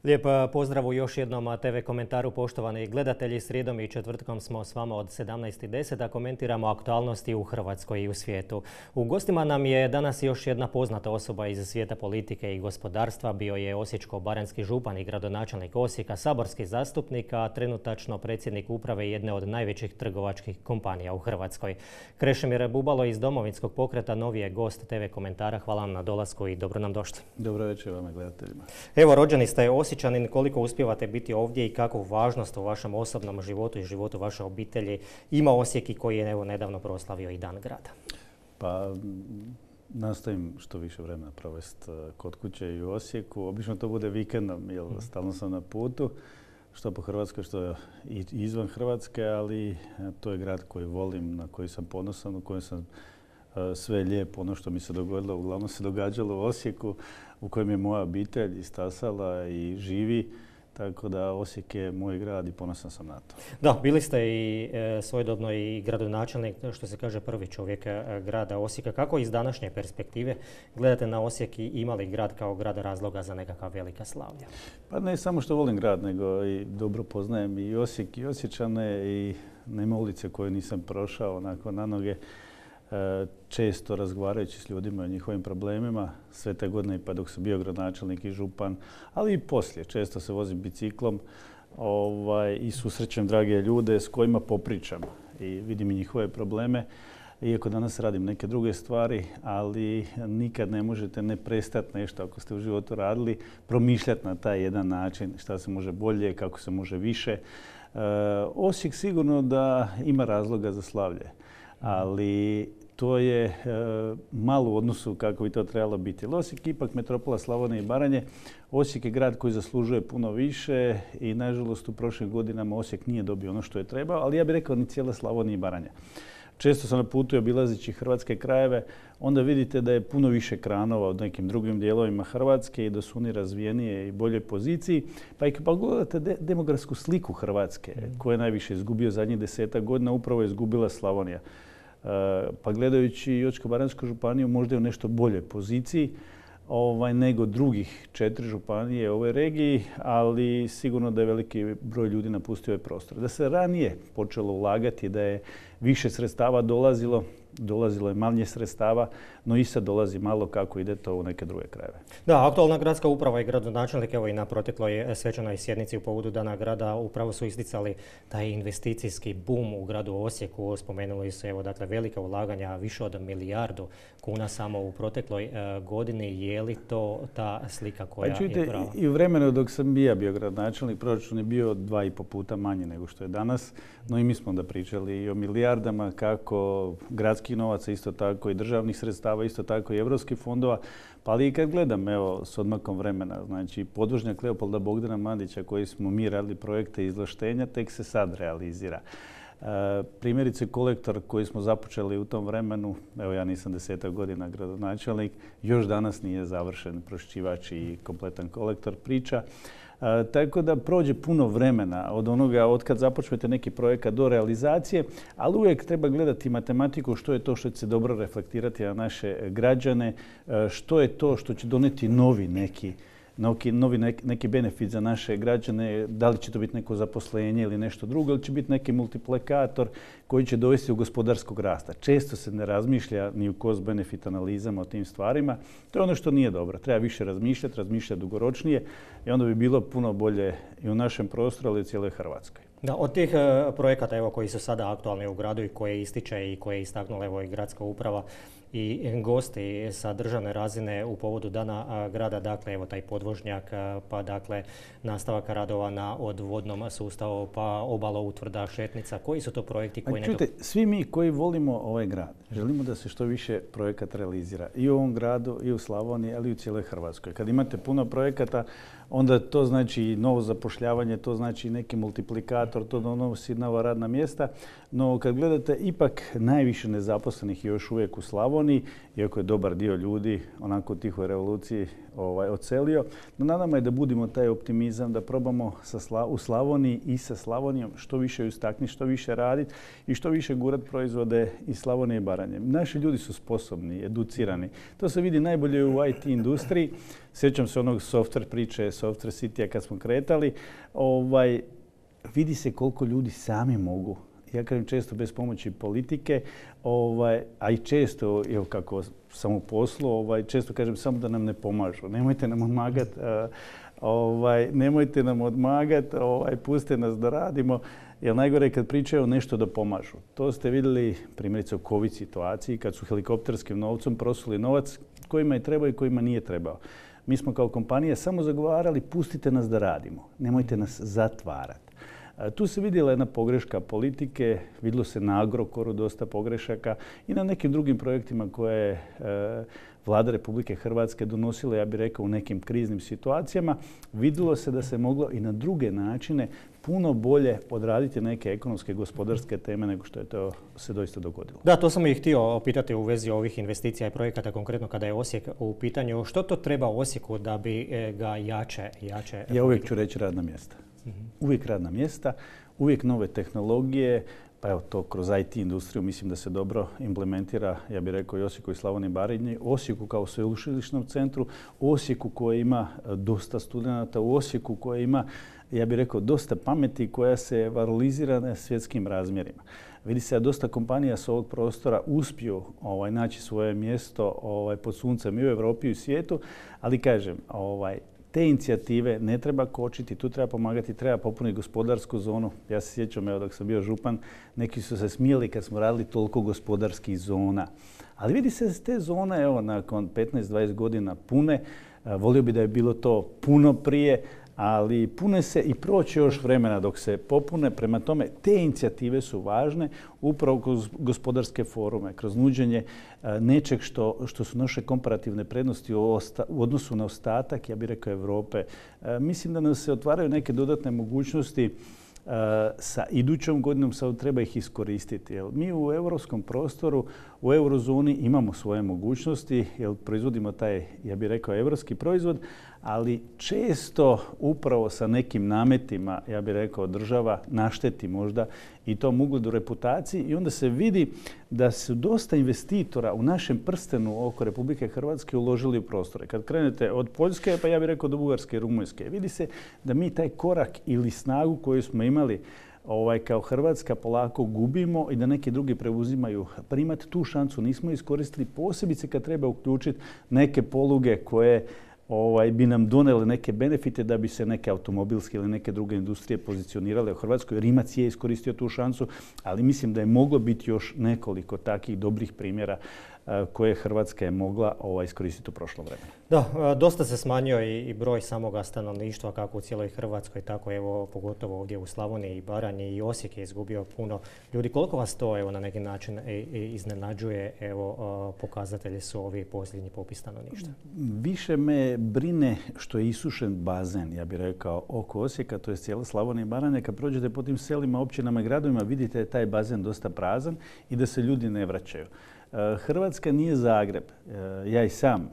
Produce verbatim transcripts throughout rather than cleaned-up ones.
Lijep pozdrav u još jednom te ve komentaru, poštovani gledatelji. Srijedom i četvrtkom smo s vama od sedamnaest i deset da komentiramo aktualnosti u Hrvatskoj i u svijetu. U gostima nam je danas još jedna poznata osoba iz svijeta politike i gospodarstva. Bio je osječko-baranjski župan i gradonačelnik Osijeka, saborski zastupnik, a trenutačno predsjednik uprave jedne od najvećih trgovačkih kompanija u Hrvatskoj. Krešimir Bubalo iz Domovinskog pokreta novi je gost te ve komentara. Hvala vam na dolasku i dobro nam došli. Dobro večer vama gledateljima. Evo, rođeni ste Osječanin, koliko uspijevate biti ovdje i kakvu važnost u vašem osobnom životu i životu vaše obitelji ima Osijek i koji je evo nedavno proslavio i Dan grada? Pa nastojim što više vremena provesti kod kuće i u Osijeku. Obično to bude vikendom, jer stalno sam na putu, što po Hrvatskoj, što i izvan Hrvatske, ali to je grad koji volim, na koji sam ponosan, u kojem sam sve lijepo, ono što mi se dogodilo, uglavnom se događalo u Osijeku, u kojem je moja obitelj istasala i živi. Tako da Osijek je moj grad i ponosan sam na to. Da, bili ste i e, svojedobno i gradonačelnik, što se kaže prvi čovjek e, grada Osijeka. Kako iz današnje perspektive gledate na Osijek i ima li grad kao grad razloga za nekakva velika slavlja? Pa ne samo što volim grad, nego i dobro poznajem i Osijek i Osječane i nema ulice koje nisam prošao onako na noge. Često razgovarajući s ljudima o njihovim problemima, sve te godine pa dok sam bio gradonačelnik i župan, ali i poslije. Često se vozim biciklom ovaj, i susrećem drage ljude s kojima popričam i vidim i njihove probleme. Iako danas radim neke druge stvari, ali nikad ne možete ne prestati nešto ako ste u životu radili, promišljati na taj jedan način šta se može bolje, kako se može više. E, Osijek sigurno da ima razloga za slavlje. Ali to je e, malo u odnosu kako bi to trebalo biti. Osijek je ipak metropola Slavonije i Baranje. Osijek je grad koji zaslužuje puno više i nažalost u prošlim godinama Osijek nije dobio ono što je trebao, ali ja bih rekao ni cijela Slavonija i Baranja. Često sam na putu obilazeći hrvatske krajeve, onda vidite da je puno više kranova od nekim drugim dijelovima Hrvatske i da su oni razvijenije i boljoj poziciji. Pa i kad pogledate de- demografsku sliku Hrvatske, koja je najviše izgubio zadnjih desetak godina, upravo je izgubila Slavonija. Uh, pa gledajući Osječko-baranjsku županiju možda je u nešto boljoj poziciji ovaj, nego drugih četiri županije u ovoj regiji, ali sigurno da je veliki broj ljudi napustio ovaj prostor. Da se ranije počelo ulagati, da je više sredstava dolazilo, dolazilo je manje sredstava, no i sad dolazi malo kako ide to u neke druge krajeve. Da, aktualna gradska uprava i gradonačelnik, evo i na protekloj svečanoj sjednici u povodu Dana grada upravo su isticali taj investicijski bum u gradu Osijeku. Spomenuli su evo dakle velika ulaganja, više od milijardu kuna samo u protekloj e, godini. Je li to ta slika koja pa, čujte, je prava? I u vremenu dok sam ja bio gradonačelnik, proračun je bio dva i po puta manji nego što je danas, no i mi smo onda pričali i o milijardama, kako gradskih novaca, isto tako i državnih sredstava, isto tako i evropskih fondova. Pa ali i kad gledam, evo, s odmakom vremena, znači podvožnjak Leopolda Bogdana Mandića koji smo mi radili projekte izvlaštenja, tek se sad realizira. E, primjerice kolektor koji smo započeli u tom vremenu, evo ja nisam desetak godina gradonačelnik, još danas nije završen pročišćivač i kompletan kolektor priča. E, tako da prođe puno vremena od onoga od kad započnete neki projekat do realizacije, ali uvijek treba gledati matematiku što je to što će se dobro reflektirati na naše građane, e, što je to što će doneti novi neki novi neki benefit za naše građane, da li će to biti neko zaposlenje ili nešto drugo, ili će biti neki multiplikator koji će dovesti do gospodarskog rasta. Često se ne razmišlja ni u cost-benefit analizama o tim stvarima. To je ono što nije dobro. Treba više razmišljati, razmišljati dugoročnije i onda bi bilo puno bolje i u našem prostoru, ali i u cijeloj Hrvatskoj. Da, od tih uh, projekata evo, koji su sada aktualni u gradu i koje ističe i koje je istaknula evo, i gradska uprava i gosti sa državne razine u povodu Dana a, grada, dakle evo taj podvožnjak, a, pa dakle nastavak radova na odvodnom sustavu, pa obalo utvrda Šetnica. Koji su to projekti koji ne... Čujte, svi mi koji volimo ovaj grad, želimo da se što više projekata realizira i u ovom gradu, i u Slavoniji, ali i u cijeloj Hrvatskoj. Kad imate puno projekata, onda to znači novo zapošljavanje, to znači neki multiplikator, generator, to donosi nova radna mjesta. No kad gledate, ipak najviše nezaposlenih je još uvijek u Slavoniji, iako je dobar dio ljudi onako u tihoj revoluciji ovaj, odselio. No na nama je da budimo taj optimizam, da probamo sa Sla- u Slavoniji i sa Slavonijom što više istaknuti, što više raditi i što više gurat proizvode iz Slavonije i Baranje. Naši ljudi su sposobni, educirani. To se vidi najbolje u I T industriji. Sjećam se onog software priče, software citya kad smo kretali. Ovaj, vidi se koliko ljudi sami mogu. Ja kažem često bez pomoći politike, ovaj, a i često, evo kako sam u poslu, ovaj, često kažem samo da nam ne pomažu. Nemojte nam odmagati, uh, ovaj, nemojte nam odmagati, ovaj, pustite nas da radimo. Jer najgore je kad pričaju nešto da pomažu. To ste vidjeli primjerice u COVID situaciji kad su helikopterskim novcem prosuli novac kojima je trebao i kojima nije trebao. Mi smo kao kompanija samo zagovarali pustite nas da radimo, nemojte nas zatvarati. Tu se vidjela jedna pogreška politike, vidjelo se na Agrokoru dosta pogrešaka i na nekim drugim projektima koje je Vlada Republike Hrvatske donosila, ja bih rekao, u nekim kriznim situacijama. Vidjelo se da se moglo i na druge načine puno bolje odraditi neke ekonomske i gospodarske teme nego što je to se doista dogodilo. Da, to sam i htio pitati u vezi ovih investicija i projekata, konkretno kada je Osijek u pitanju. Što to treba Osijeku da bi ga jače... jače ja uvijek ću reći radna mjesta. Mm-hmm. Uvijek radna mjesta, uvijek nove tehnologije, pa evo to kroz I T industriju mislim da se dobro implementira, ja bih rekao i Osijeku i Slavoniji i Baranji, Osijeku kao sveučilišnom centru, Osijeku koji ima dosta studenata, u Osijeku koji ima, ja bih rekao, dosta pameti koja se valorizira na svjetskim razmjerima. Vidi se da dosta kompanija s ovog prostora uspiju ovaj, naći svoje mjesto ovaj, pod suncem i u Europi i u svijetu, ali kažem, ovaj, te inicijative ne treba kočiti, tu treba pomagati, treba popuniti gospodarsku zonu. Ja se sjećam, evo dok sam bio župan, neki su se smijeli kad smo radili toliko gospodarskih zona. Ali vidi se da te zone, evo, nakon petnaest dvadeset godina pune, volio bi da je bilo to puno prije, ali pune se i proći još vremena dok se popune. Prema tome, te inicijative su važne upravo kroz gospodarske forume, kroz nuđenje nečeg što, što su naše komparativne prednosti u, osta, u odnosu na ostatak, ja bih rekao, Europe. Mislim da nam se otvaraju neke dodatne mogućnosti. Sa idućom godinom sad treba ih iskoristiti. Jer mi u europskom prostoru, u eurozoni imamo svoje mogućnosti, jer proizvodimo taj, ja bih rekao, europski proizvod, ali često upravo sa nekim nametima, ja bih rekao, država našteti možda i tom ugledu, reputaciji, i onda se vidi da su dosta investitora u našem prstenu oko Republike Hrvatske uložili u prostore. Kad krenete od Poljske, pa ja bih rekao do Bugarske i Rumunjske, vidi se da mi taj korak ili snagu koju smo imali ovaj, kao Hrvatska polako gubimo i da neki drugi preuzimaju. Primati tu šansu nismo iskoristili, posebice kad treba uključiti neke poluge koje Ovaj, bi nam donele neke benefite da bi se neke automobilske ili neke druge industrije pozicionirale u Hrvatskoj. Rimac je iskoristio tu šansu, ali mislim da je moglo biti još nekoliko takih dobrih primjera koje Hrvatska je mogla ovaj, iskoristiti u prošlom vremenu. Da, dosta se smanjio i, i broj samoga stanovništva kako u cijeloj Hrvatskoj, tako evo pogotovo ovdje u Slavoniji i Baranji, i Osijek je izgubio puno ljudi. Koliko vas to evo na neki način iznenađuje? Evo pokazatelji su ovi posljednji popis stanovništva. Više me brine što je isušen bazen, ja bih rekao, oko Osijeka, to je cijela Slavonija i Baranja. Kad prođete po tim selima, općinama i gradovima, vidite da je taj bazen dosta prazan i da se ljudi ne vraćaju. Hrvatska nije Zagreb. Ja i sam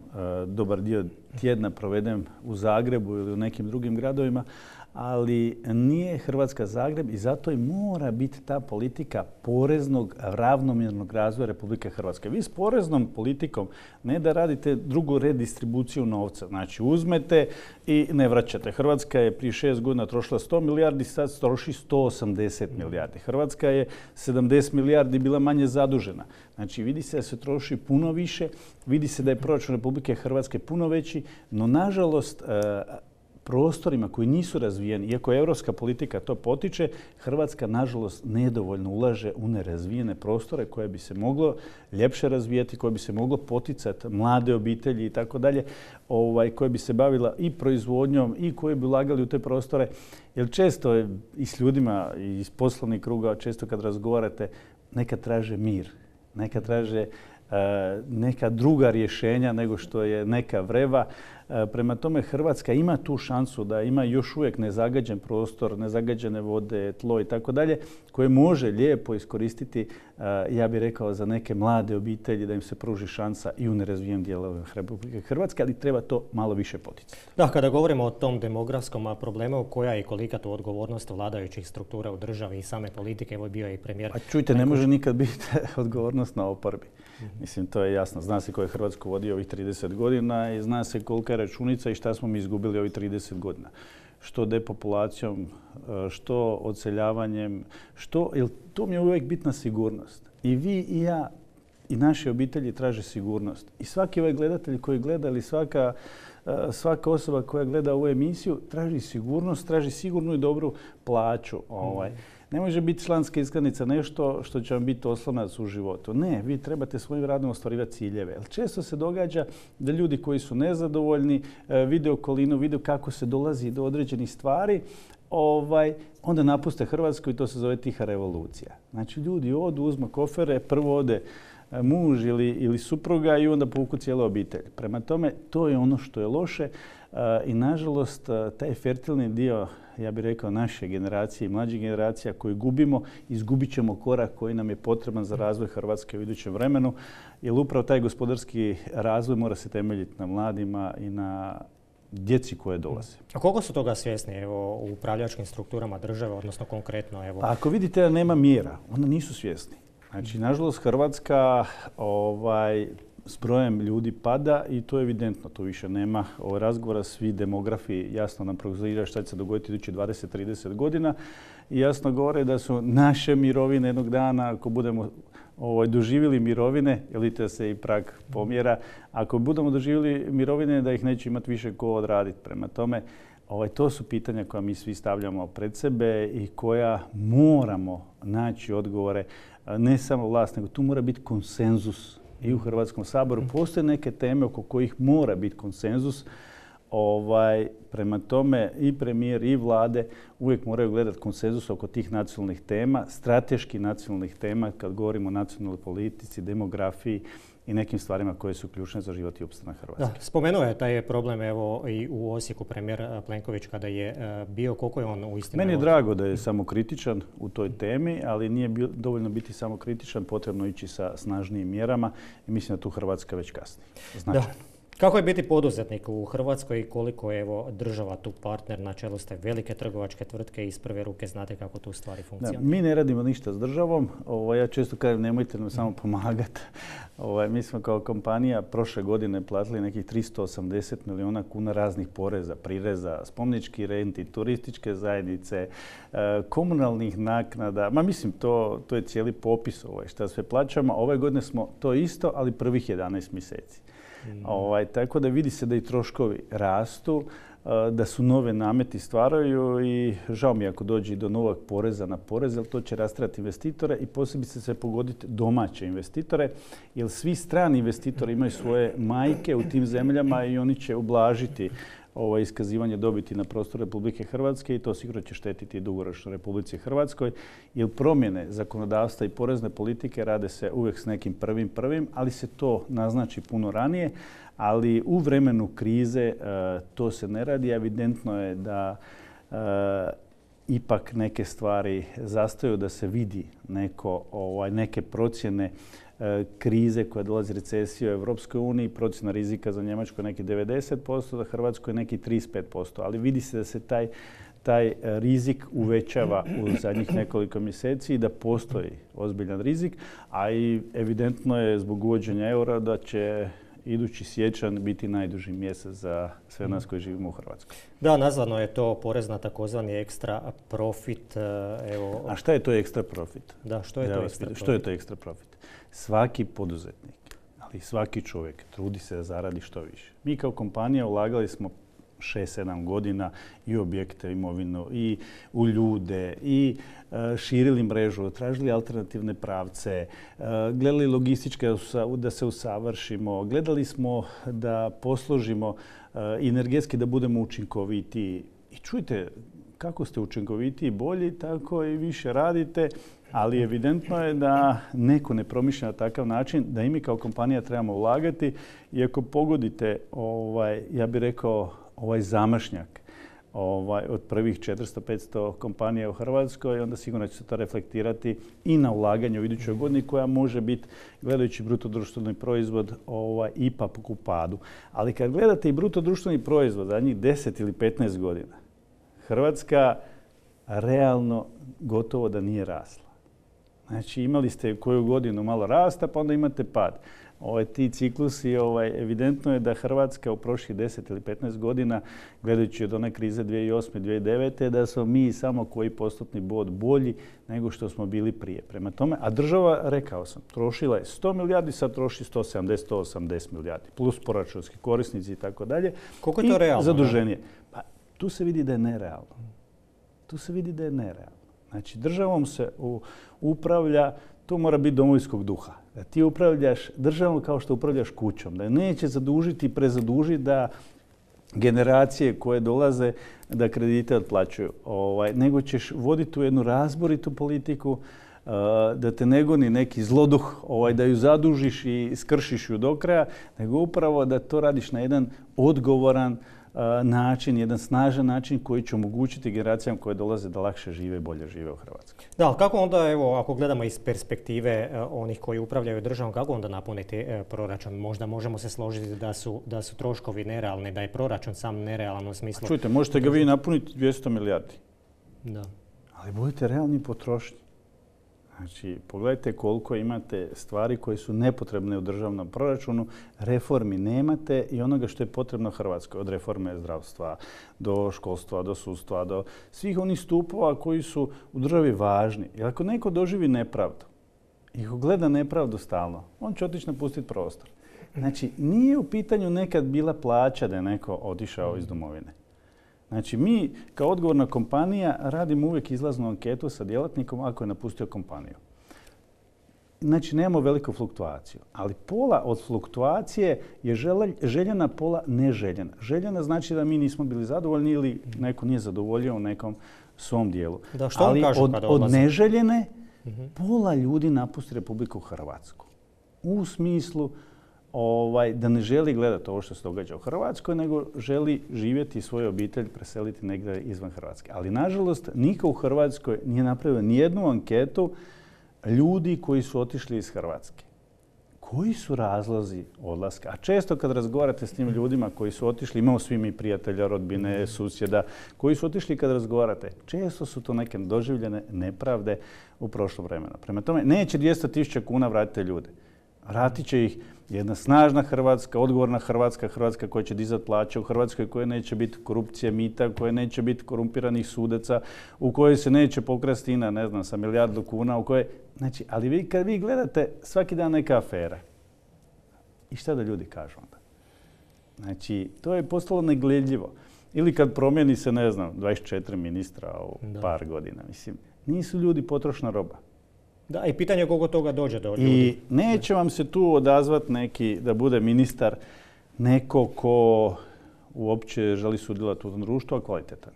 dobar dio tjedna provedem u Zagrebu ili u nekim drugim gradovima, ali nije Hrvatska Zagreb i zato i mora biti ta politika poreznog ravnomjernog razvoja Republike Hrvatske. Vi s poreznom politikom ne da radite drugu redistribuciju novca. Znači uzmete i ne vraćate. Hrvatska je prije šest godina trošila sto milijardi, sad troši sto osamdeset milijardi. Hrvatska je sedamdeset milijardi bila manje zadužena. Znači vidi se da se troši puno više, vidi se da je proračun Republike Hrvatske puno veći, no nažalost prostorima koji nisu razvijeni, iako europska politika to potiče, Hrvatska nažalost nedovoljno ulaže u nerazvijene prostore koje bi se moglo ljepše razvijati, koje bi se moglo poticati mlade obitelji i tako dalje, ovaj, koje bi se bavila i proizvodnjom i koje bi ulagali u te prostore. Jer često je i s ljudima iz poslovnih kruga, često kad razgovarate, nekad traže mir, nekad traže neka druga rješenja nego što je neka vreva. Prema tome Hrvatska ima tu šansu da ima još uvijek nezagađen prostor, nezagađene vode, tlo i tako dalje, koje može lijepo iskoristiti, ja bih rekao, za neke mlade obitelji da im se pruži šansa i u nerazvijenim dijelovima Republike Hrvatske, ali treba to malo više poticati. Da, kada govorimo o tom demografskom problemu, koja je i kolika tu odgovornost vladajućih struktura u državi i same politike, evo bio je i premijer. A čujte, ne može nikad biti odgovornost na oporbi. Mislim, to je jasno. Zna se ko je Hrvatsku vodio ovih trideset godina i zna se kolika je računica i šta smo mi izgubili ovih trideset godina. Što depopulacijom, što odseljavanjem, što, jer tu mi je uvijek bitna sigurnost. I vi i ja i naše obitelji traže sigurnost. I svaki ovaj gledatelj koji gleda ili svaka, svaka osoba koja gleda ovu emisiju traži sigurnost, traži sigurnu i dobru plaću. Ovaj. Ne može biti članska iskaznica nešto što će vam biti oslonac u životu. Ne, vi trebate svojim radom ostvarivati ciljeve. Jer često se događa da ljudi koji su nezadovoljni vide okolinu, vide kako se dolazi do određenih stvari, ovaj, onda napuste Hrvatsku i to se zove tiha revolucija. Znači ljudi odu, uzmu kofere, prvo ode muž ili, ili supruga i onda povuku cijelu obitelj. Prema tome, to je ono što je loše i nažalost taj fertilni dio, ja bih rekao, naše generacije i mlađih generacija koji gubimo, izgubit ćemo korak koji nam je potreban za razvoj Hrvatske u idućem vremenu, jer upravo taj gospodarski razvoj mora se temeljiti na mladima i na djeci koje dolaze. A koliko su toga svjesni evo, u upravljačkim strukturama države, odnosno konkretno? Evo... Pa ako vidite da nema mjera, onda nisu svjesni. Znači, nažalost, Hrvatska ovaj, s brojem ljudi pada i to je evidentno. Tu više nema ovaj razgovora. Svi demografi jasno nam prognoziraju šta će se dogoditi idućih dvadeset do trideset godina. I jasno govore da su naše mirovine jednog dana, ako budemo ovaj, doživjeli mirovine, jer vidite se i prag pomjera, ako budemo doživjeli mirovine da ih neće imati više ko odraditi. Prema tome, ovaj, to su pitanja koja mi svi stavljamo pred sebe i koja moramo naći odgovore. Ne samo vlast, nego tu mora biti konsenzus i u Hrvatskom saboru. Postoje neke teme oko kojih mora biti konsenzus. Ovaj, prema tome i premijer i vlade uvijek moraju gledati konsenzus oko tih nacionalnih tema, strateških nacionalnih tema kad govorimo o nacionalnoj politici, demografiji i nekim stvarima koje su ključne za život i opstanak Hrvatske. Da, spomenuo je taj problem evo i u Osijeku premijer Plenković kada je bio, koliko je on uistinu... Meni je drago da je samokritičan u toj temi, ali nije bio, dovoljno biti samokritičan, potrebno ići sa snažnijim mjerama i mislim da tu Hrvatska već kasni. Značajno. Da. Kako je biti poduzetnik u Hrvatskoj i koliko je evo, država tu partner, na čelu ste velike trgovačke tvrtke i iz prve ruke znate kako tu stvari funkcioniraju? Mi ne radimo ništa s državom. Ovo, ja često kažem nemojte nam samo pomagati. Ovo, mi smo kao kompanija prošle godine platili nekih tristo osamdeset milijuna kuna raznih poreza, prireza, spomeničkih renti, turističke zajednice, komunalnih naknada. Ma mislim, to, to je cijeli popis ovaj, šta sve plaćamo. Ove godine smo to isto, ali prvih jedanaest mjeseci. Mm. Ovaj, tako da vidi se da i troškovi rastu, da su nove nameti stvaraju i žao mi ako dođe do novog poreza na porez, jer to će rastrati investitore i posebice se pogoditi domaće investitore, jer svi strani investitori imaju svoje majke u tim zemljama i oni će ublažiti ovo iskazivanje dobiti na prostoru Republike Hrvatske i to sigurno će štetiti dugoročno Republici Hrvatskoj, jer promjene zakonodavstva i porezne politike rade se uvijek s nekim prvim prvim, ali se to naznači puno ranije, ali u vremenu krize to se ne radi. Evidentno je da ipak neke stvari zastaju, da se vidi neko, ovaj, neke procjene krize koja dolazi recesije u Europskoj uniji, procjena rizika za Njemačku je neki devedeset posto, za Hrvatsku je neki trideset pet posto. Ali vidi se da se taj, taj rizik uvećava u zadnjih nekoliko mjeseci i da postoji ozbiljan rizik, a i evidentno je zbog uvođenja eura da će idući siječanj biti najduži mjesec za sve nas koji živimo u Hrvatskoj. Da, nazvano je to porez na takozvani ekstra profit. Evo... A šta je to ekstra profit? Da, što je ja to ekstra pitam, profit? Što je to ekstra profit? Svaki poduzetnik, ali svaki čovjek trudi se da zaradi što više. Mi kao kompanija ulagali smo šest sedam godina i u objekte, imovinu, i u ljude, i e, širili mrežu, tražili alternativne pravce, e, gledali logističke da se usavršimo, gledali smo da posložimo e, energetski da budemo učinkovitiji. I čujte, kako ste učinkovitiji i bolji, tako i više radite Ali evidentno je da neko ne promišlja na takav način, da i mi kao kompanija trebamo ulagati. I ako pogodite, ovaj, ja bih rekao, ovaj zamašnjak ovaj, od prvih četiristo do petsto kompanija u Hrvatskoj, onda sigurno će se to reflektirati i na ulaganje u idućoj godini koja može biti, gledajući bruto društveni proizvod, ovaj, ipak u padu. Ali kad gledate i bruto društveni proizvod zadnjih deset ili petnaest godina, Hrvatska realno gotovo da nije rasla. Znači imali ste koju godinu malo rasta, pa onda imate pad. Ovaj, ti ciklusi, ovaj, evidentno je da Hrvatska u prošlih deset ili petnaest godina, gledajući od one krize dvije tisuće osme. dvije tisuće devete. da smo mi samo koji postotni bod bolji nego što smo bili prije. Prema tome, a država, rekao sam, trošila je sto milijardi, sad troši sto sedamdeset do sto osamdeset milijardi, plus proračunski korisnici i tako dalje. Koliko je to realno? Zaduženje. Pa, tu se vidi da je nerealno. Tu se vidi da je nerealno. Znači, državom se u, upravlja, to mora biti domovinskog duha. Da ti upravljaš državom kao što upravljaš kućom. Da neće zadužiti i prezadužiti da generacije koje dolaze da kredite otplaćuju. Ovaj, nego ćeš voditi tu jednu razboritu politiku, uh, da te ne goni neki zloduh, ovaj, da ju zadužiš i skršiš ju do kraja, nego upravo da to radiš na jedan odgovoran način, jedan snažan način koji će omogućiti generacijama koje dolaze da lakše žive i bolje žive u Hrvatskoj. Da, ali kako onda, evo, ako gledamo iz perspektive onih koji upravljaju državom, kako onda napuniti proračun? Možda možemo se složiti da su, da su troškovi nerealni, da je proračun sam nerealan u smislu... A čujte, možete ga vi napuniti dvjesto milijardi. Da. Ali budite realni potrošnji. Znači, pogledajte koliko imate stvari koje su nepotrebne u državnom proračunu, reformi nemate i onoga što je potrebno Hrvatskoj, od reforme zdravstva do školstva, do sudstva, do svih onih stupova koji su u državi važni. Jer ako neko doživi nepravdu i ako gleda nepravdu stalno, on će otići napustiti prostor. Znači, nije u pitanju nekad bila plaća da je neko otišao iz domovine. Znači, mi kao odgovorna kompanija radimo uvijek izlaznu anketu sa djelatnikom ako je napustio kompaniju. Znači, nemamo veliku fluktuaciju, ali pola od fluktuacije je željena, pola neželjena. Željena znači da mi nismo bili zadovoljni ili neko nije zadovoljio u nekom svom dijelu. Da, što ali kažu od, kada od odlaze? neželjene pola ljudi napusti Republiku Hrvatsku. U smislu Ovaj, da ne želi gledati ovo što se događa u Hrvatskoj, nego želi živjeti i svoju obitelj preseliti negdje izvan Hrvatske. Ali, nažalost, niko u Hrvatskoj nije napravio nijednu anketu ljudi koji su otišli iz Hrvatske. Koji su razlozi odlaska? A često kad razgovarate s tim ljudima koji su otišli, imamo svi mi prijatelja, rodbine, susjeda, koji su otišli kad razgovarate, često su to neke doživljene nepravde u prošlom vremenu. Prema tome, neće dvjesto tisuća kuna vratiti ljude. Vratit će ih jedna snažna Hrvatska, odgovorna Hrvatska, Hrvatska koja će dizati plaće, u Hrvatskoj koje neće biti korupcije, mita, koje neće biti korumpiranih sudaca, u kojoj se neće pokrasti INA, ne znam, sa milijardu kuna, u kojoj... Znači, ali vi kad vi gledate svaki dan neka afera, i šta da ljudi kažu onda? Znači, to je postalo negledljivo. Ili kad promijeni se, ne znam, dvadeset četiri ministra u da. par godina. Mislim, nisu ljudi potrošna roba. Da, i pitanje je koliko toga dođe do ljudi. I neće vam se tu odazvati neki da bude ministar neko ko uopće želi sudjelovati u tom društvu, a kvalitetan.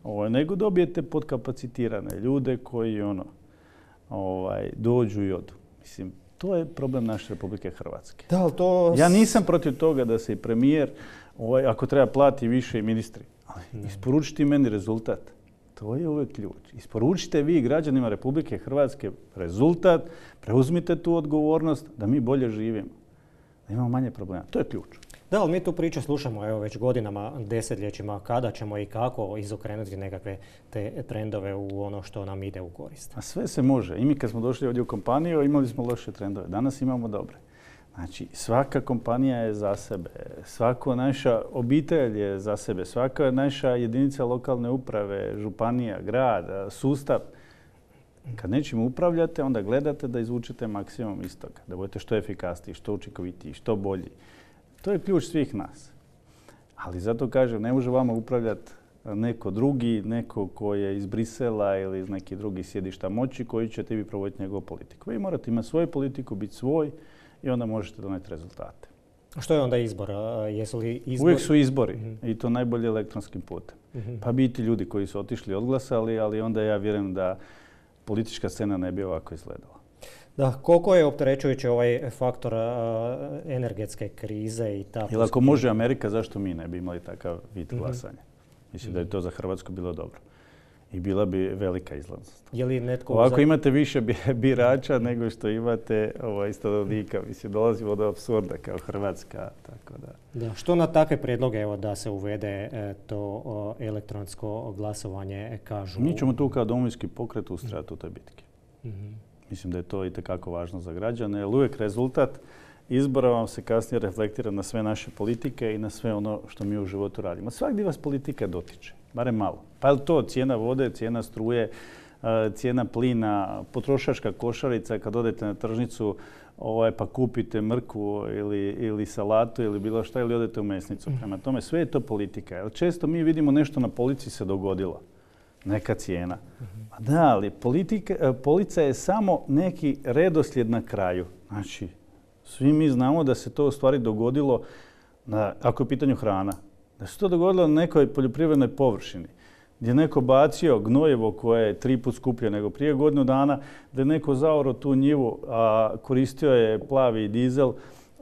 Ovaj, nego dobijete podkapacitirane ljude koji ono, ovaj, dođu i odu. Mislim, to je problem naše Republike Hrvatske. Da, ali to... Ja nisam protiv toga da se i premijer, ovaj, ako treba plati više i ministri, ali isporučiti meni rezultat. To je uvijek ključ. Isporučite vi građanima Republike Hrvatske rezultat, preuzmite tu odgovornost da mi bolje živimo, da imamo manje problema. To je ključ. Da, ali mi tu priču slušamo evo, već godinama, desetljećima, kada ćemo i kako izokrenuti nekakve te trendove u ono što nam ide u korist. A sve se može. I mi kad smo došli ovdje u kompaniju imali smo loše trendove. Danas imamo dobre. Znači, svaka kompanija je za sebe, svaka naša obitelj je za sebe, svaka naša jedinica lokalne uprave, županija, grad, sustav. Kad nečim upravljate, onda gledate da izvučete maksimum iz toga, da budete što efikasniji, što učinkovitiji, što bolji. To je ključ svih nas. Ali zato kažem, ne može vama upravljati neko drugi, neko ko je iz Brisela ili iz nekih drugih sjedišta moći koji ćete vi provoditi njegovu politiku. Vi morate imati svoju politiku, biti svoj, i onda možete donijeti rezultate. A što je onda izbor? Jesu li izbori? Uvijek su izbori uh-huh. i to najbolje elektronskim putem. Uh-huh. Pa biti ljudi koji su otišli, odglasali, ali onda ja vjerujem da politička scena ne bi ovako izgledala. Da, koliko je opterećujući ovaj faktor a, energetske krize i ta... Jer ako može Amerika, zašto mi ne bi imali takav vid glasanja? Mm-hmm. Mislim mm-hmm. da je to za Hrvatsku bilo dobro. I bila bi velika izlaznost. Je li netko... Ovako za... imate više birača nego što imate ovaj, stanovnika. Mislim, dolazimo do apsurda kao Hrvatska. Tako da. Da. Što na takve prijedloge evo, da se uvede e, to o, elektronsko glasovanje kažu? Mi ćemo tu kao Domovinski pokret ustrajati u toj bitki. Mm-hmm. Mislim da je to itekako važno za građane, jer uvijek rezultat izbora vam se kasnije reflektira na sve naše politike i na sve ono što mi u životu radimo. Svakdje vas politika dotiče, barem malo. Pa je li to cijena vode, cijena struje, cijena plina, potrošačka košarica, kad odete na tržnicu ovaj, pa kupite mrkvu ili, ili salatu ili bilo šta, ili odete u mesnicu. Prema tome, sve je to politika. Jer često mi vidimo nešto na polici se dogodilo. Neka cijena. A da, ali politika, polica je samo neki redoslijed na kraju. Znači, svi mi znamo da se to u stvari dogodilo, na, ako je u pitanju hrana, da se to dogodilo na nekoj poljoprivrednoj površini, gdje je neko bacio gnojevo koje je tri put skuplje nego prije godinu dana, da je neko zaorao tu njivu, a koristio je plavi dizel,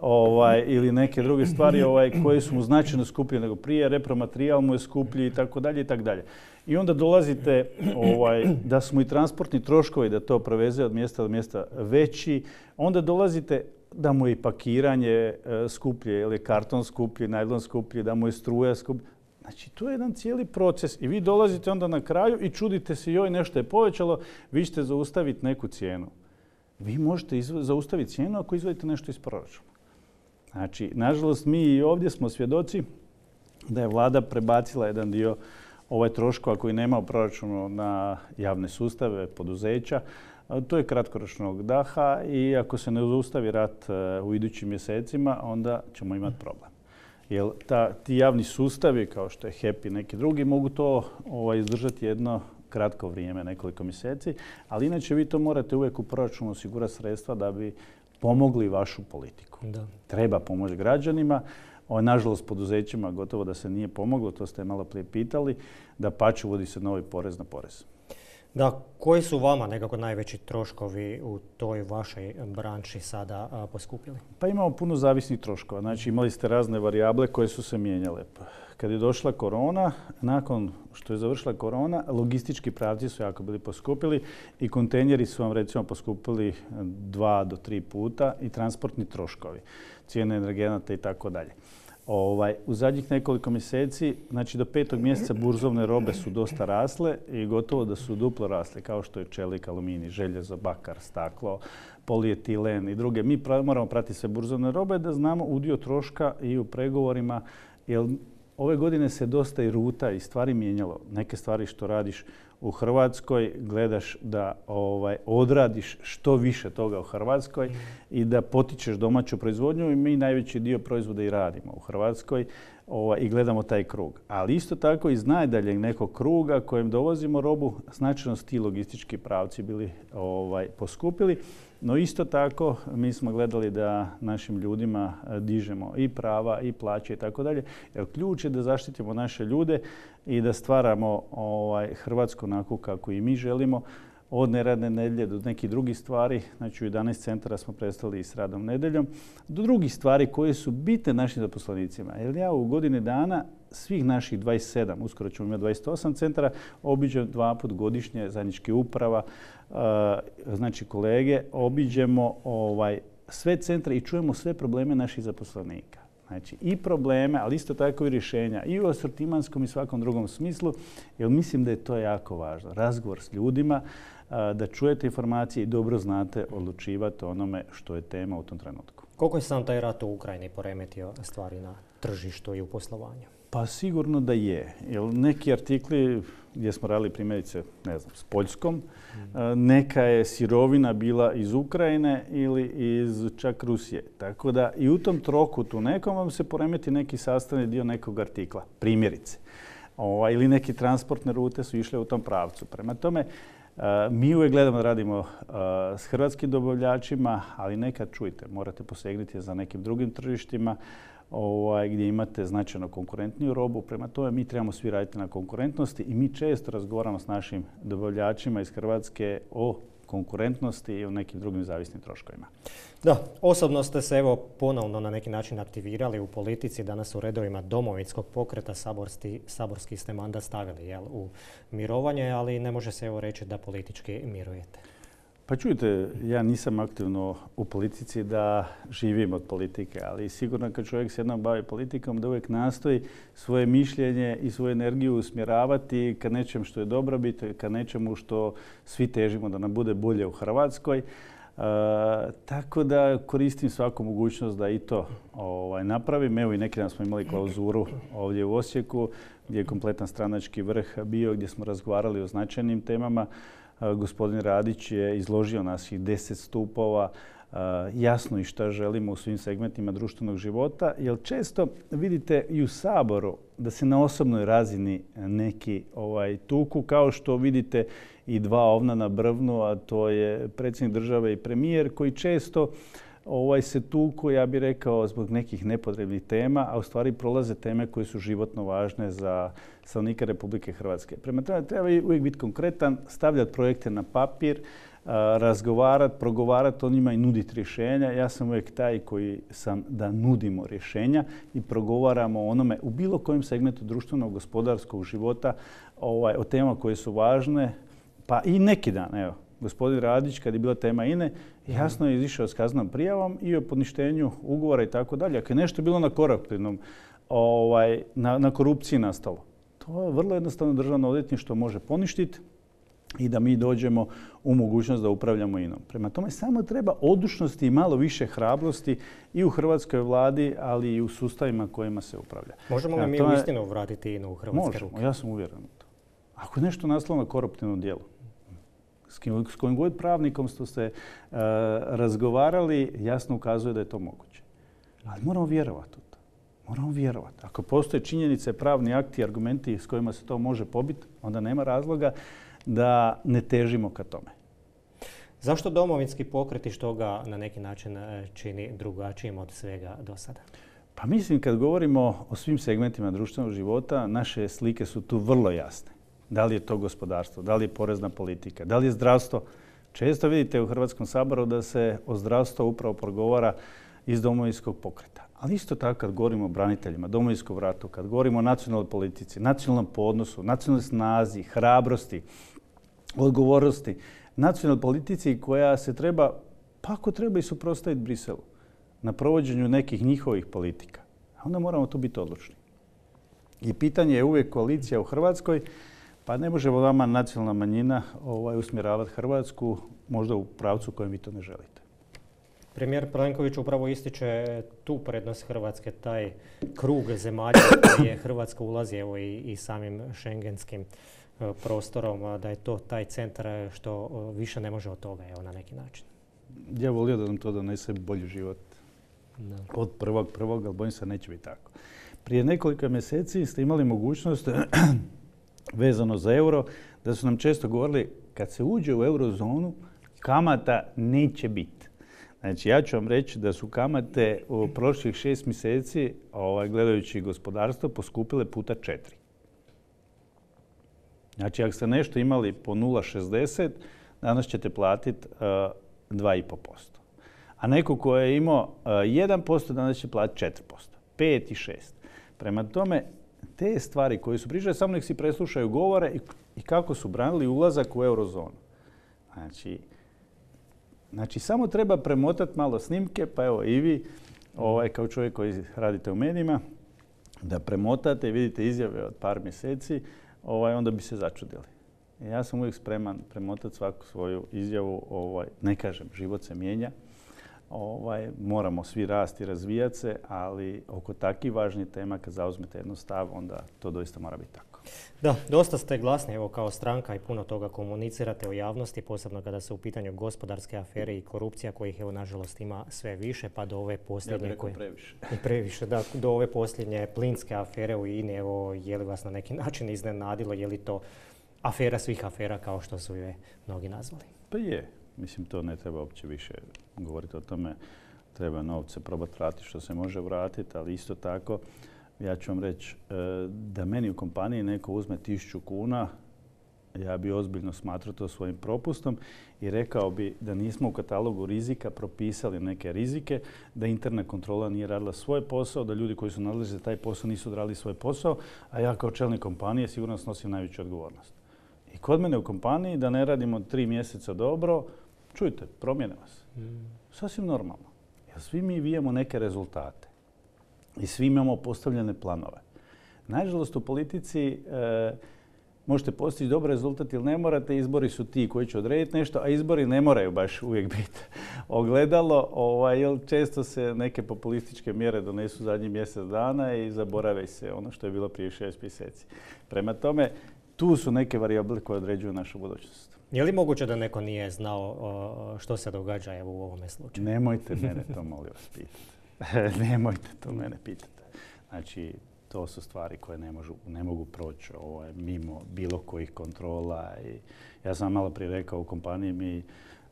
Ovaj, ili neke druge stvari ovaj, koje su mu značajno skuplje nego prije, repromaterijal mu je skuplji i tako dalje i tako dalje. I onda dolazite ovaj, da smo i transportni troškovi da to preveze od mjesta do mjesta veći, onda dolazite da mu je i pakiranje e, skuplje, ili karton skuplji, najlon skuplji, da mu je struja skuplja. Znači, to je jedan cijeli proces i vi dolazite onda na kraju i čudite se joj nešto je povećalo, vi ćete zaustaviti neku cijenu. Vi možete zaustaviti cijenu ako izvadite nešto iz proračuna. Znači, nažalost, mi i ovdje smo svjedoci da je vlada prebacila jedan dio ovaj troškova koji nema u proračunu na javne sustave, poduzeća. To je kratkoročnog daha i ako se ne zaustavi rat u idućim mjesecima, onda ćemo imati problem. Jer ta, ti javni sustavi, kao što je H E P i neki drugi, mogu to ovaj, izdržati jedno kratko vrijeme, nekoliko mjeseci, ali inače vi to morate uvijek u proračunu osigurati sredstva da bi pomogli vašu politiku. Da. Treba pomoći građanima. O, nažalost, poduzećima gotovo da se nije pomoglo, to ste malo prije pitali, da pače uvodi se novi porez na porez. Da, koji su vama nekako najveći troškovi u toj vašoj branši sada a, poskupili? Pa imamo puno zavisnih troškova. Znači, imali ste razne varijable koje su se mijenjale. Kad je došla korona, nakon što je završila korona, logistički pravci su jako bili poskupili i kontejneri su vam recimo poskupili dva do tri puta i transportni troškovi, cijene energenata i tako dalje. Ovaj, u zadnjih nekoliko mjeseci, znači do petog mjeseca burzovne robe su dosta rasle i gotovo da su duplo rasle, kao što je čelik, aluminij, željezo, bakar, staklo, polietilen i druge. Mi pra, moramo pratiti sve burzovne robe da znamo udio troška i u pregovorima, jer ove godine se dosta i ruta i stvari mijenjalo. Neke stvari što radiš u Hrvatskoj gledaš da ovaj, odradiš što više toga u Hrvatskoj i da potičeš domaću proizvodnju i mi najveći dio proizvoda i radimo u Hrvatskoj ovaj, i gledamo taj krug. Ali isto tako iz najdaljeg nekog kruga kojem dovozimo robu, značajno su ti logistički pravci bili ovaj, poskupili. No isto tako mi smo gledali da našim ljudima dižemo i prava i plaće i tako dalje. Jer ključ je da zaštitimo naše ljude i da stvaramo ovaj, Hrvatsku onako kako i mi želimo. Od neradne nedjelje do nekih drugih stvari, znači u jedanaest centara smo prestali s radom nedjeljom, do drugih stvari koje su bitne našim zaposlenicima. Jer ja u godini dana svih naših dvadeset sedam, uskoro ćemo imati dvadeset osam centara, obiđem dva put godišnje zajednički uprava, znači kolege, obiđemo ovaj, sve centre i čujemo sve probleme naših zaposlenika. Znači i probleme, ali isto tako i rješenja i u asortimanskom i svakom drugom smislu, jer mislim da je to jako važno. Razgovor s ljudima, da čujete informacije i dobro znate odlučivati o onome što je tema u tom trenutku. Koliko je sam taj rat u Ukrajini poremetio stvari na tržištu i u poslovanju? Pa sigurno da je. Jer neki artikli gdje smo radili primjerice, ne znam, s Poljskom, mm. neka je sirovina bila iz Ukrajine ili iz čak Rusije. Tako da i u tom trokutu nekom vam se poremeti neki sastavni dio nekog artikla, primjerice. O, ili neke transportne rute su išle u tom pravcu. Prema tome, Mi uvijek gledamo da radimo s hrvatskim dobavljačima, ali nekad čujte, morate posegnuti za nekim drugim tržištima ovaj, gdje imate značajno konkurentniju robu. Prema tome mi trebamo svi raditi na konkurentnosti i mi često razgovaramo s našim dobavljačima iz Hrvatske o konkurentnosti i o nekim drugim zavisnim troškovima. Da, osobno ste se evo ponovno na neki način aktivirali u politici. Danas u redovima Domovinskog pokreta saborski, saborski ste mandat stavili jel, u mirovanje, ali ne može se evo reći da politički mirujete. Pa čujte, ja nisam aktivno u politici da živim od politike, ali sigurno kad čovjek se jednom bavi politikom da uvijek nastoji svoje mišljenje i svoju energiju usmjeravati ka nečem što je dobrobit, ka nečemu što svi težimo da nam bude bolje u Hrvatskoj. E, tako da koristim svaku mogućnost da i to ovaj, napravim. Evo i neki dan smo imali klauzuru ovdje u Osijeku gdje je kompletan stranački vrh bio, gdje smo razgovarali o značajnim temama. Gospodin Radić je izložio naših deset stupova, jasno i šta želimo u svim segmentima društvenog života, jer često vidite i u Saboru da se na osobnoj razini neki ovaj, tuku, kao što vidite i dva ovna na brvnu, a to je predsjednik države i premijer, koji često ovaj, se tuku, ja bih rekao, zbog nekih nepotrebnih tema, a u stvari prolaze teme koje su životno važne za stanovnike Republike Hrvatske. Prema tome treba uvijek biti konkretan, stavljati projekte na papir, razgovarati, progovarati o njima i nuditi rješenja. Ja sam uvijek taj koji sam da nudimo rješenja i progovaramo o onome u bilo kojem segmentu društvenog, gospodarskog života, ovaj, o temama koje su važne, pa i neki dan, evo. Gospodin Radić, kad je bila tema I N E, jasno je izišao s kaznenom prijavom i o poništenju ugovora i tako dalje. Ako je nešto bilo na koruptivnom, ovaj, na, na korupciji nastalo, to je vrlo jednostavno državno odvjetništvo može poništiti i da mi dođemo u mogućnost da upravljamo I N O-om. Prema tome samo treba odlučnosti i malo više hrabrosti i u hrvatskoj vladi, ali i u sustavima kojima se upravlja. Možemo li mi uistinu vratiti I N O u hrvatske ruke? Možemo, ja sam uvjeren u to. Ako je nešto nastalo na koruptivnom dijelu, s kojim god pravnikom ste se uh, razgovarali, jasno ukazuje da je to moguće. Ali moramo vjerovati u to. Moramo vjerovati. Ako postoje činjenice, pravni akti, argumenti s kojima se to može pobiti, onda nema razloga da ne težimo ka tome. Zašto Domovinski pokret i što ga na neki način čini drugačijim od svega do sada? Pa mislim, kad govorimo o svim segmentima društvenog života, naše slike su tu vrlo jasne. Da li je to gospodarstvo, da li je porezna politika, da li je zdravstvo. Često vidite u Hrvatskom saboru da se o zdravstvu upravo progovara iz Domovinskog pokreta. Ali isto tako kad govorimo o braniteljima, Domovinskom ratu, kad govorimo o nacionalnoj politici, nacionalnom podnosu, nacionalnoj snazi, hrabrosti, odgovornosti, nacionalnoj politici koja se treba, pa ako treba i suprotstaviti Briselu na provođenju nekih njihovih politika, onda moramo tu biti odlučni. I pitanje je uvijek koalicija u Hrvatskoj. Pa ne može vama nacionalna manjina ovaj, usmjeravati Hrvatsku možda u pravcu kojem vi to ne želite. Premijer Plenković upravo ističe tu prednost Hrvatske, taj krug zemalja gdje Hrvatska ulazi evo, i, i samim šengenskim uh, prostorom, da je to taj centar što uh, više ne može od toga evo, na neki način. Ja volio da nam to donese bolji život da. Od prvog prvog, ali bojim se neće biti tako. Prije nekoliko mjeseci ste imali mogućnost vezano za euro, da su nam često govorili kad se uđe u eurozonu, kamata neće biti. Znači, ja ću vam reći da su kamate u prošlih šest mjeseci, ovaj, gledajući gospodarstvo, poskupile puta četiri. Znači, ako ste nešto imali po nula zarez šezdeset, danas ćete platiti uh, dva i pol posto. A neko ko je imao uh, jedan posto, danas će platiti četiri posto. pet i šest. Prema tome, te stvari koje su pričali, samo nek si preslušaju govore i, i kako su branili ulazak u eurozonu. Znači, znači, samo treba premotati malo snimke, pa evo i vi, ovaj, kao čovjek koji radite u medijima, da premotate i vidite izjave od par mjeseci, ovaj, onda bi se začudili. Ja sam uvijek spreman premotati svaku svoju izjavu. Ovaj, ne kažem, život se mijenja. Ovaj, moramo svi rasti i razvijati se, ali oko takvih važnih tema kad zauzmete jedno stav, onda to doista mora biti tako. Da, dosta ste glasni evo, kao stranka i puno toga komunicirate u javnosti, posebno kada se u pitanju gospodarske afere i korupcija kojih evo nažalost ima sve više, pa do ove posljednje... Ja bih rekao koje... previše. I previše, da. Do ove posljednje plinske afere u I N E, evo, je li vas na neki način iznenadilo, je li to afera svih afera, kao što su je mnogi nazvali. Pa je. Mislim, to ne treba uopće više govoriti o tome. Treba novce probati vratiti što se može vratiti, ali isto tako ja ću vam reći da meni u kompaniji neko uzme tisuću kuna, ja bi ozbiljno smatrao to svojim propustom i rekao bi da nismo u katalogu rizika propisali neke rizike, da interna kontrola nije radila svoj posao, da ljudi koji su nadležni za taj posao nisu odradili svoj posao, a ja kao čelnik kompanije sigurno snosim najveću odgovornost. I kod mene u kompaniji da ne radimo tri mjeseca dobro, čujte, promijene vas. Sasvim normalno. Jer svi mi vijemo neke rezultate i svi imamo postavljene planove. Nažalost, u politici e, možete postići dobar rezultat ili ne morate. Izbori su ti koji će odrediti nešto, a izbori ne moraju baš uvijek biti ogledalo, ovaj, jer često se neke populističke mjere donesu zadnjih mjesec dana i zaborave se ono što je bilo prije šest mjeseci. Prema tome, tu su neke varijable koje određuju našu budućnost. Je li moguće da neko nije znao što se događa evo u ovome slučaju? Nemojte mene to, molim vas, pitati. Nemojte to mene pitati. Znači, to su stvari koje ne, možu, ne mogu proći ovaj, mimo bilo kojih kontrola. I ja sam malo prije rekao, u kompaniji mi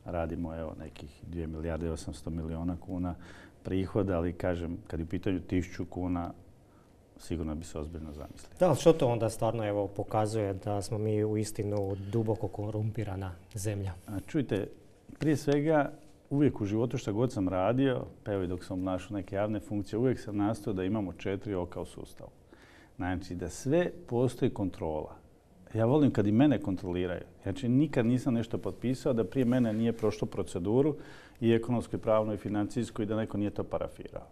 radimo evo, nekih dvije milijarde i osamsto milijuna kuna prihoda, ali kažem, kad je u pitanju tisuću kuna, sigurno bi se ozbiljno zamislili. Da, ali što to onda stvarno evo, pokazuje da smo mi uistinu duboko korumpirana zemlja? A čujte, prije svega, uvijek u životu što god sam radio, pa evo i dok sam obnašao neke javne funkcije, uvijek sam nastojao da imamo četiri oka u sustavu. Znači da sve postoji kontrola. Ja volim kad i mene kontroliraju. Znači nikad nisam nešto potpisao da prije mene nije prošlo proceduru i ekonomsku, i pravnu, i financijsku i da neko nije to parafirao.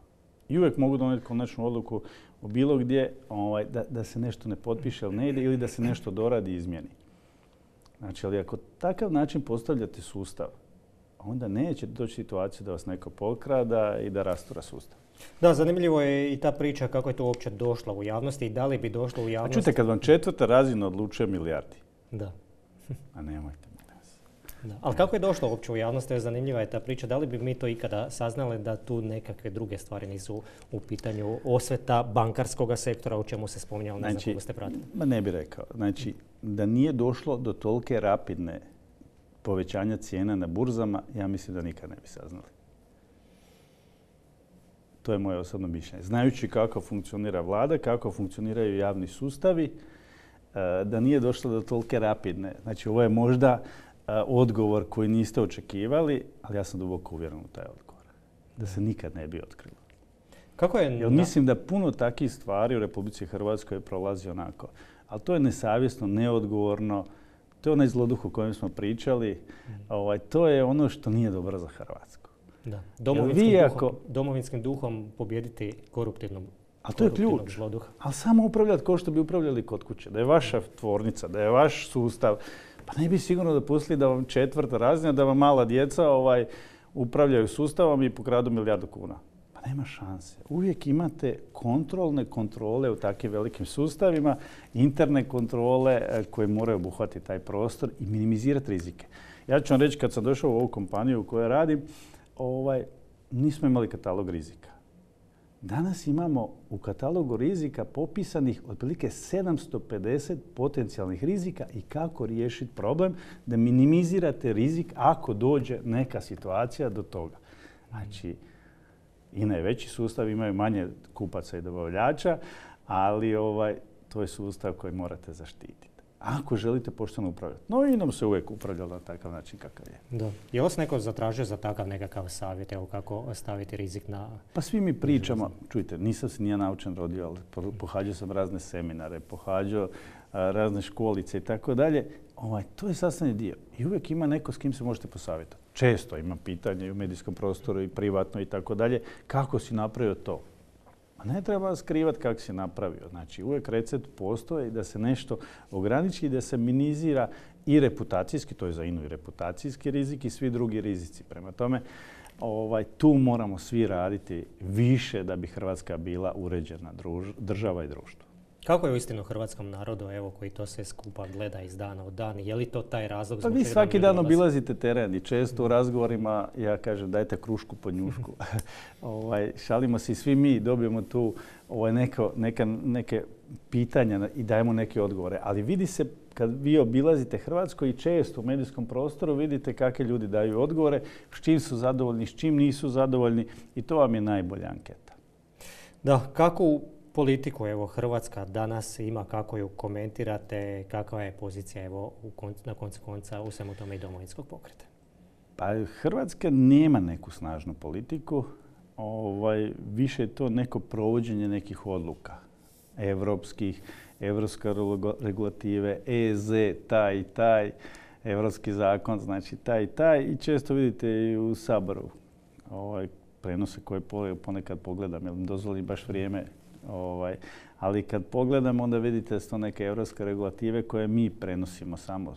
I uvijek mogu donijeti konačnu odluku u bilo gdje ovaj, da, da se nešto ne potpiše ili ne ide ili da se nešto doradi i izmijeni. Znači, ali ako takav način postavljate sustav, onda neće doći situacija da vas neko pokrada i da rastura sustav. Da, zanimljivo je i ta priča kako je to uopće došlo u javnosti i da li bi došlo u javnosti. A čujte, kad vam četvrta razina odlučuje milijardi. Da. A nemojte. Da. Ali kako je došlo uopće u javnosti, zanimljiva je ta priča. Da li bi mi to ikada saznali da tu nekakve druge stvari nisu u pitanju osveta bankarskog sektora, o čemu se spominjalo, ne znam kako ste pratili? Ma ne bih rekao. Znači, da nije došlo do tolike rapidne povećanja cijena na burzama, ja mislim da nikad ne bi saznali. To je moje osobno mišljenje. Znajući kako funkcionira vlada, kako funkcioniraju javni sustavi, da nije došlo do tolike rapidne. Znači, ovo je možda odgovor koji niste očekivali, ali ja sam duboko uvjeren u taj odgovor. Da se nikad ne bi otkrilo. Kako je? Jer mislim da puno takvih stvari u Republici Hrvatskoj prolazi onako. Ali to je nesavjesno, neodgovorno. To je onaj zloduh o kojem smo pričali. Mm. Ovaj, to je ono što nije dobro za Hrvatsku. Da. Domovinskim, duhom, ako... domovinskim duhom pobijediti koruptivnom Ali to je ključ. Zloduha. Ali samo upravljati kao što bi upravljali kod kuće. Da je vaša tvornica, da je vaš sustav. Pa ne bi sigurno dopustili da vam četvrta razina, da vam mala djeca ovaj, upravljaju sustavom i pokradu milijardu kuna. Pa nema šanse. Uvijek imate kontrolne kontrole u takvim velikim sustavima, interne kontrole koje moraju obuhvatiti taj prostor i minimizirati rizike. Ja ću vam reći, kad sam došao u ovu kompaniju u kojoj radim, ovaj, nismo imali katalog rizika. Danas imamo u katalogu rizika popisanih otprilike sedamsto pedeset potencijalnih rizika i kako riješiti problem da minimizirate rizik ako dođe neka situacija do toga. Znači, I na veći sustav imaju manje kupaca i dobavljača, ali ovaj, to je sustav koji morate zaštititi. Ako želite pošteno upravljati. No i nam se uvijek upravljalo na takav način kakav je. Da. Je li vas neko zatražio za takav nekakav savjet, evo kako staviti rizik na... Pa svi mi pričamo, čujte, nisam se nije naučen rodio, ali pohađao sam razne seminare, pohađao a, razne školice i tako dalje. Ovaj, to je sastavni dio. I uvijek ima neko s kim se možete posavjetati. Često imam pitanje i u medijskom prostoru i privatno i tako dalje. Kako si napravio to? Ne treba skrivati kako si napravio. Znači, uvijek recept postoji da se nešto ograniči i da se minimizira i reputacijski, to je za I N A U i reputacijski rizik i svi drugi rizici. Prema tome, ovaj, tu moramo svi raditi više da bi Hrvatska bila uređena druž, država i društvo. Kako je uistinu hrvatskom narodu, evo, koji to sve skupa gleda iz dana u dan? Je li to taj razlog? Pa vi svaki dan obilazite teren i često u razgovorima ja kažem dajte krušku po njušku. ovaj, šalimo se i svi mi, dobijemo tu ovaj, neko, neka, neke pitanja i dajemo neke odgovore. Ali vidi se kad vi obilazite Hrvatsku i često u medijskom prostoru vidite kakve ljudi daju odgovore, s čim su zadovoljni, s čim nisu zadovoljni i to vam je najbolja anketa. Da, kakvu politiku evo Hrvatska danas ima, kako ju komentirate, kakva je pozicija evo u kon, na koncu konca u svemu tome i Domovinskog pokreta? Pa Hrvatska nema neku snažnu politiku, ovaj, više je to neko provođenje nekih odluka evropskih, evropske regulative, E Z, taj i taj, evropski zakon, znači taj i taj i često vidite i u Saboru ovaj, prenose koje ponekad pogledam, jer mi dozvoli baš vrijeme. Ovaj, ali kad pogledam, onda vidite da su to neke evropske regulative koje mi prenosimo samo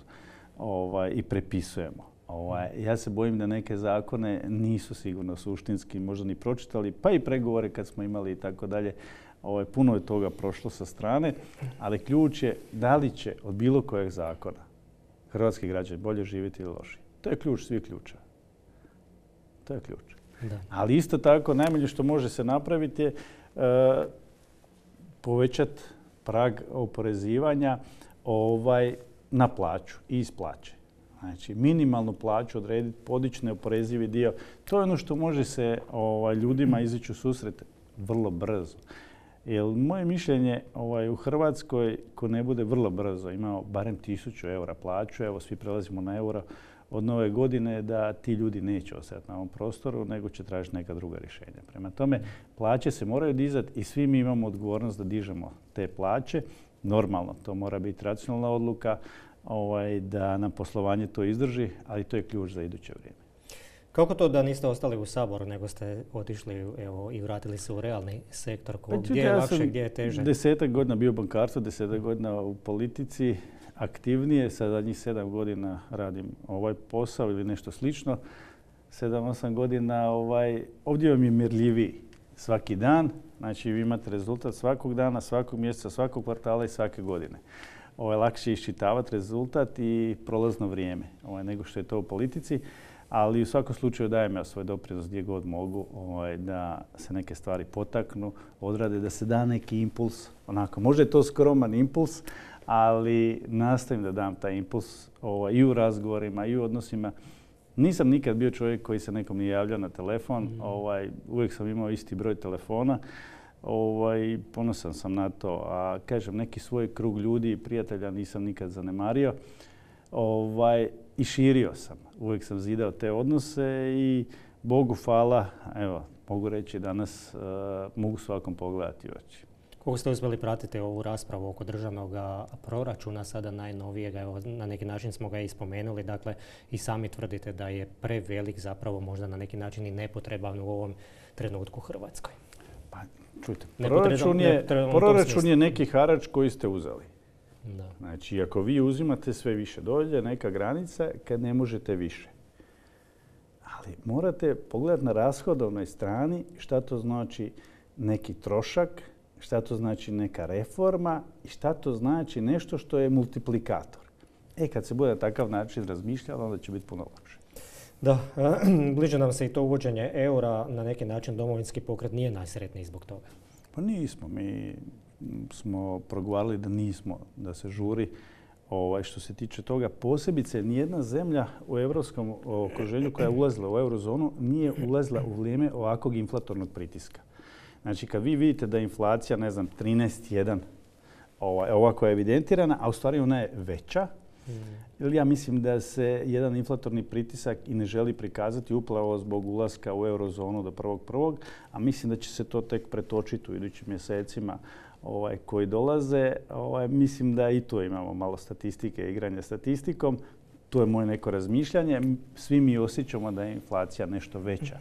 ovaj, i prepisujemo. Ovaj, ja se bojim da neke zakone nisu sigurno suštinski možda ni pročitali, pa i pregovore kad smo imali i tako dalje. Ovaj, puno je toga prošlo sa strane, ali ključ je da li će od bilo kojeg zakona hrvatski građani bolje živjeti ili lošije. To je ključ svih ključa. To je ključ. Da. Ali isto tako, najmanje što može se napraviti je uh, povećati prag oporezivanja ovaj, na plaću i iz plaće. Znači, minimalnu plaću odrediti, podići neoporezivi dio. To je ono što može se ovaj, ljudima izići u susret vrlo brzo. Jer moje mišljenje ovaj, u Hrvatskoj, ko ne bude vrlo brzo imao barem tisuću eura plaću, evo svi prelazimo na euro od nove godine, da ti ljudi neće ostati na ovom prostoru, nego će tražiti neka druga rješenja. Prema tome, plaće se moraju dizati i svi mi imamo odgovornost da dižemo te plaće. Normalno, to mora biti racionalna odluka, ovaj, da nam poslovanje to izdrži, ali to je ključ za iduće vrijeme. Kako to da niste ostali u Saboru, nego ste otišli evo, i vratili se u realni sektor? Ko, pa, gdje je ja lakše, gdje je teže? Desetak godina bio u bankarstvu, desetak godina u politici, aktivnije. Sa zadnjih sedam godina radim ovaj posao ili nešto slično. Sedam, osam godina ovaj, ovdje vam je mjerljiviji svaki dan. Znači vi imate rezultat svakog dana, svakog mjeseca, svakog kvartala i svake godine. Ovo je lakše iščitavati rezultat i prolazno vrijeme ovaj, nego što je to u politici. Ali u svakom slučaju dajem ja svoj doprinos gdje god mogu ovaj, da se neke stvari potaknu, odrade, da se da neki impuls. Onako, možda je to skroman impuls, ali nastavim da dam taj impuls ovaj, i u razgovorima i u odnosima. Nisam nikad bio čovjek koji se nekom nije javljao na telefon. Mm. Ovaj, uvijek sam imao isti broj telefona. Ovaj, ponosan sam na to. A kažem, neki svoj krug ljudi i prijatelja nisam nikad zanemario. Ovaj, I širio sam. Uvijek sam zidao te odnose i Bogu hvala, evo, mogu reći danas uh, mogu svakom pogledati u oči. Kako ste uspjeli pratiti ovu raspravu oko državnog proračuna, sada najnovijega, evo, na neki način smo ga i spomenuli, dakle i sami tvrdite da je prevelik, zapravo možda na neki način i nepotreban u ovom trenutku u Hrvatskoj. Pa, čujte, proračun je, proračun je neki harač koji ste uzeli. Da. Znači, ako vi uzimate sve više, dođe neka granica kad ne možete više. Ali morate pogledati na rashodovnoj strani šta to znači neki trošak, šta to znači neka reforma i šta to znači nešto što je multiplikator. E, kad se bude na takav način razmišljalo, onda će biti puno lakše. Da, bliže nam se i to uvođenje eura, na neki način Domovinski pokret nije najsretniji zbog toga. Pa nismo, mi smo progovarali da nismo, da se žuri. Ovaj, što se tiče toga, posebice nijedna zemlja u europskom okruženju koja je ulazila u eurozonu nije ulazila u vrijeme ovakvog inflatornog pritiska. Znači, kad vi vidite da je inflacija, ne znam, trinaest zarez jedan, ovaj, ova koja je evidentirana, a u stvari ona je veća, mm. ja mislim da se jedan inflatorni pritisak i ne želi prikazati upravo zbog ulaska u eurozonu do prvog prvog, a mislim da će se to tek pretočiti u idućim mjesecima ovaj, koji dolaze. Ovaj, mislim da i tu imamo malo statistike, igranja statistikom. To je moje neko razmišljanje. Svi mi osjećamo da je inflacija nešto veća.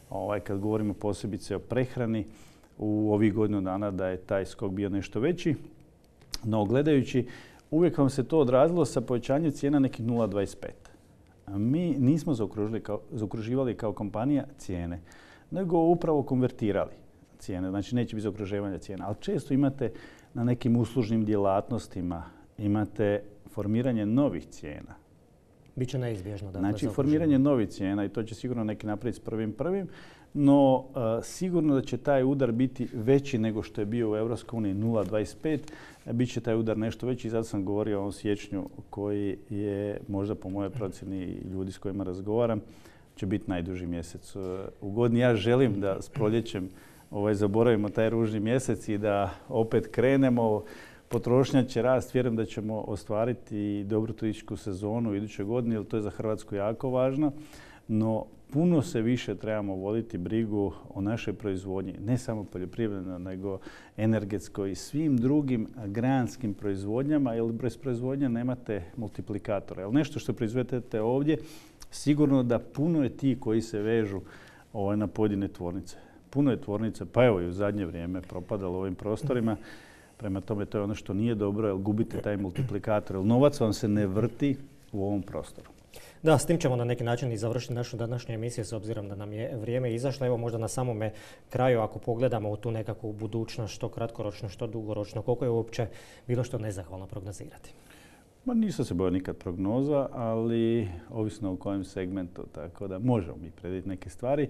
Ovaj, kad govorimo posebice o prehrani, u ovih godinu dana da je taj skok bio nešto veći. No, gledajući, uvijek vam se to odrazilo sa povećanjem cijena nekih nula zarez dvadeset pet. A mi nismo kao, zaokruživali kao kompanija cijene, nego upravo konvertirali cijene. Znači, neće biti zaokruživanja cijena. Ali često imate na nekim uslužnim djelatnostima, imate formiranje novih cijena. Biće neizbježno. Dakle, znači, formiranje novih cijena i to će sigurno neki napraviti s prvim prvim. no e, sigurno da će taj udar biti veći nego što je bio u Europskoj uniji nula zarez dvadeset pet. Biće taj udar nešto veći, zato sam govorio o ovom siječnju koji je možda po mojoj procjeni ljudi s kojima razgovaram će biti najduži mjesec u godini. Ja želim da s proljećem ovaj, zaboravimo taj ružni mjesec i da opet krenemo. Potrošnja će rast, vjerujem da ćemo ostvariti dobru turističku sezonu u idućoj godini, jer to je za Hrvatsku jako važno. No, puno se više trebamo voditi brigu o našoj proizvodnji, ne samo poljoprivredno, nego energetskoj i svim drugim granskim proizvodnjama, jer bez proizvodnja nemate multiplikatora. Jer nešto što proizvedete ovdje, sigurno da puno je ti koji se vežu ovaj, na pojedine tvornice. Puno je tvornice, pa evo i u zadnje vrijeme propadalo u ovim prostorima. Prema tome, to je ono što nije dobro, jer gubite taj multiplikator. Jer novac vam se ne vrti u ovom prostoru. Da, s tim ćemo na neki način i završiti našu današnju emisiju s obzirom da nam je vrijeme izašlo. Evo možda na samome kraju, ako pogledamo u tu nekakvu budućnost, što kratkoročno, što dugoročno, koliko je uopće bilo što nezahvalno prognozirati? Ma nisam se bojao nikad prognoza, ali ovisno u kojem segmentu, tako da možemo mi predvidjeti neke stvari.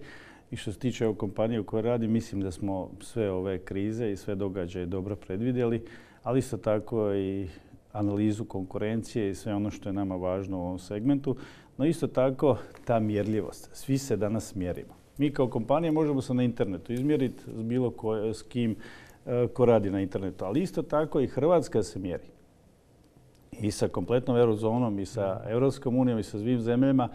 I što se tiče ove kompanije u kojoj radim, mislim da smo sve ove krize i sve događaje dobro predvidjeli, ali isto tako i analizu konkurencije i sve ono što je nama važno u ovom segmentu. No isto tako ta mjerljivost. Svi se danas mjerimo. Mi kao kompanija možemo se na internetu izmjeriti s bilo ko, s kim ko radi na internetu, ali isto tako i Hrvatska se mjeri. I sa kompletnom eurozonom, i sa Europskom unijom, i sa svim zemljama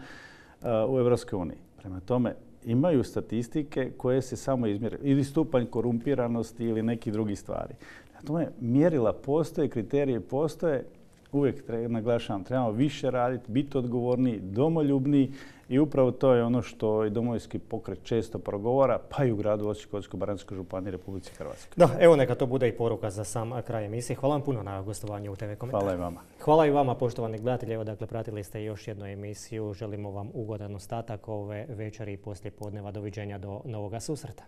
u Europskoj uniji. Prema tome, imaju statistike koje se samo izmjere. Ili stupanj korumpiranosti ili neki drugi stvari. Prema tome, mjerila postoje, kriterije postoje. Uvijek treba, naglašavam, trebamo više raditi, biti odgovorniji, domoljubniji i upravo to je ono što i Domovinski pokret često progovara, pa i u gradu Osječko-baranjskoj županiji Republici Hrvatskoj. Da, evo neka to bude i poruka za sam kraj emisije. Hvala vam puno na gostovanju u te ve Komentar. Hvala i vama. Hvala i vama, poštovani gledatelji. Evo, dakle, pratili ste još jednu emisiju. Želimo vam ugodan ostatak ove večeri i poslije podneva. Doviđenja do novoga susreta.